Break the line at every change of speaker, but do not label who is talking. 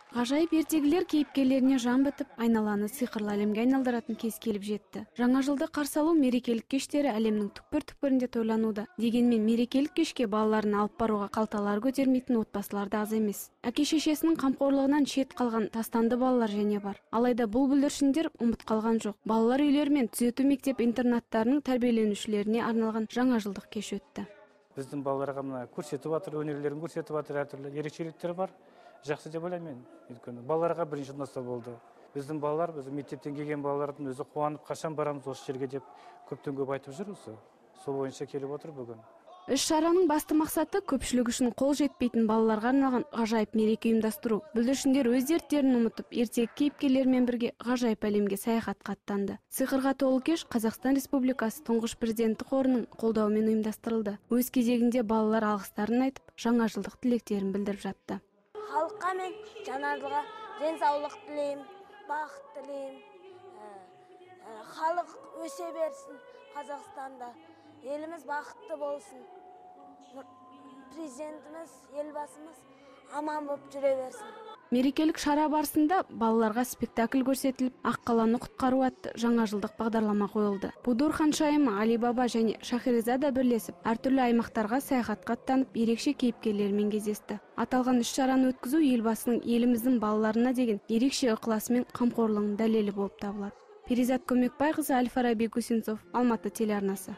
Ғажайып ертегілер кейіпкерлеріне жан бітіп, айналаны сиқырлы әлемге айналдыратын кез келіп жетті. Жаңа жылды қарсы алу мерекелік кештері әлемнің түкпір-түкпірінде тойлануда. Дегенмен мерекелік кешке балаларын алып баруға қалталары көтермейтін отбасылар да аз емес. Әке-шешесінің қамқорлығынан шет қалған тастанды балалар және бар. Алайда бұл бүлдіршіндер ұмыт қалған жоқ. Балалар үйлері мен түзету мектеп-интернаттарының тәрбиеленушілеріне арналған жаңа жылдық кеш өтті.
Біздің балаларға мына көрсетіп жатыр, өнерлерін көрсетіп жатыр, әртүрлі ерекшеліктер бар. Жақсы деп ойлаймын. Өйткені балаларға бірінші ұнаса болды. Біздің балалар, біздің мектептен келген балалардың өзі қуанып, қашан барамыз осы жерге деп көптен көп айтып жүр осы. Сол бойынша келіп отыр бүгін.
Іс-шараның басты мақсаты көпшілік үшін қол жетпейтін балаларға арналған ғажайып мереке ұйымдастыру. Бүлдіршіндер өз дерттерін ұмытып, ертегі кейіпкерлерімен бірге ғажайып әлемге саяхатқа аттанды. Сиқырға толы кеш Қазақстан Республикасы Тұңғыш Президенті қорының қолдауымен ұйымдастырылды. Өз кезегінде балалар алғыстарын айтып, жаңа жылдық тілектерін білдіріп жатты.
Халыққа мен жаңа жылға денсаулық тілеймін, бақыт тілеймін. Халық өсе берсін Қазақстанда. Еліміз бақытты болсын. Президентіміз, елбасымыз аман болып жүре берсін.
Мерекелік шара барысында балаларға спектакль көрсетіліп, Ақ қаланы құтқару атты жаңа жылдық бағдарлама қойылды. Будур ханшайымы Али Баба және Шахерезада бірлесіп, әртүрлі аймақтарға саяхатқа аттанып, ерекше кейіпкерлермен кездесті. Аталған іс-шараны өткізу елбасының еліміздің балаларына деген ерекше ықыласы мен қамқорлығының дәлелі болып табылады. Перизат Көмекбайқызы, Әл-Фараби Гусинцов, Алматы телеарнасы.